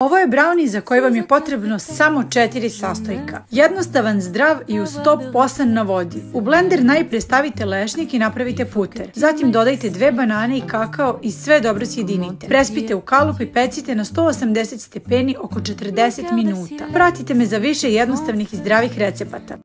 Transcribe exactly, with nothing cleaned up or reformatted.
Ovo je brownie za koji vam je potrebno samo četiri sastojka. Jednostavan, zdrav i uz sto posan na vodi. U blender najprije stavite lešnik i napravite puter. Zatim dodajte dve banane i kakao i sve dobro sjedinite. Prespite u kalup i pecite na sto osamdeset stepeni oko četrdeset minuta. Pratite me za više jednostavnih i zdravih recepata.